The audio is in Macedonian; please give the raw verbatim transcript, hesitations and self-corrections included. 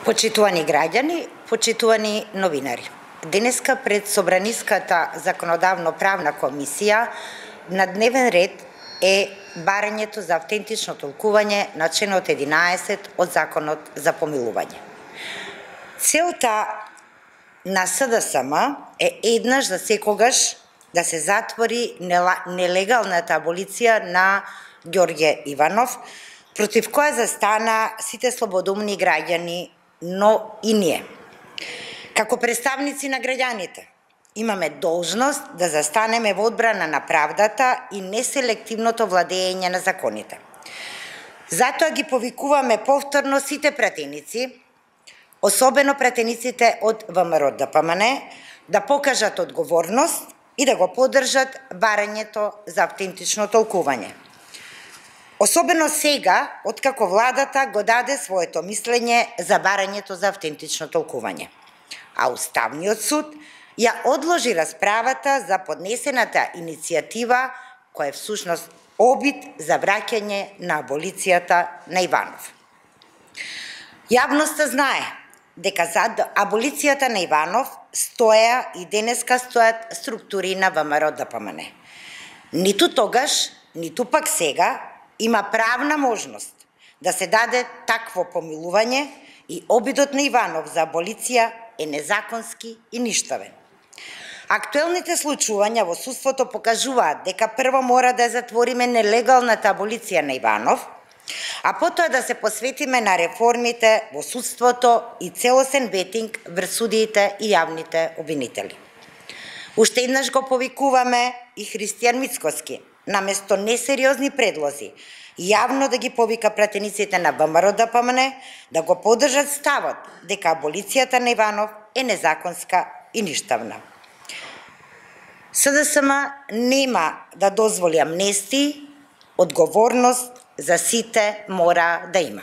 Почитувани граѓани, почитувани новинари. Денеска пред Собраниската законодавно-правна комисија на дневен ред е барањето за автентично толкување на членот единаесет од Законот за помилување. Целта на С Д С М е еднаш за секогаш да се затвори нелегалната аболиција на Ѓорѓе Иванов, против која застана сите слободумни граѓани, но и ние. Како представници на граѓаните, имаме должност да застанеме во одбрана на правдата и неселективното владење на законите. Затоа ги повикуваме повторно сите пратеници, особено пратениците од В М Р Д П М Н, да покажат одговорност и да го поддржат барањето за автентично толкување. Особено сега, откако владата го даде своето мислење за барањето за автентично толкување. А Уставниот суд ја одложи расправата за поднесената иницијатива, која е всушност обид за враќање на аболицијата на Иванов. Јавноста знае дека зад аболицијата на Иванов стоја и денеска стојат структури на В М Р Д П М Н. Ниту тогаш, ниту пак сега има правна можност да се даде такво помилување и обидот на Иванов за аболиција е незаконски и ништавен. Актуелните случувања во судството покажуваат дека прво мора да затвориме нелегалната аболиција на Иванов, а потоа да се посветиме на реформите во судството и целосен бетинг врз судиите и јавните обвинители. Уште еднаш го повикуваме и Христијан Мицкоски, наместо несериозни предлози, јавно да ги повика пратениците на В М Р Д П М Н да го поддржат ставот дека аболицијата на Иванов е незаконска и ништавна. С Д С М нема да дозволи амнестии, одговорност за сите мора да има.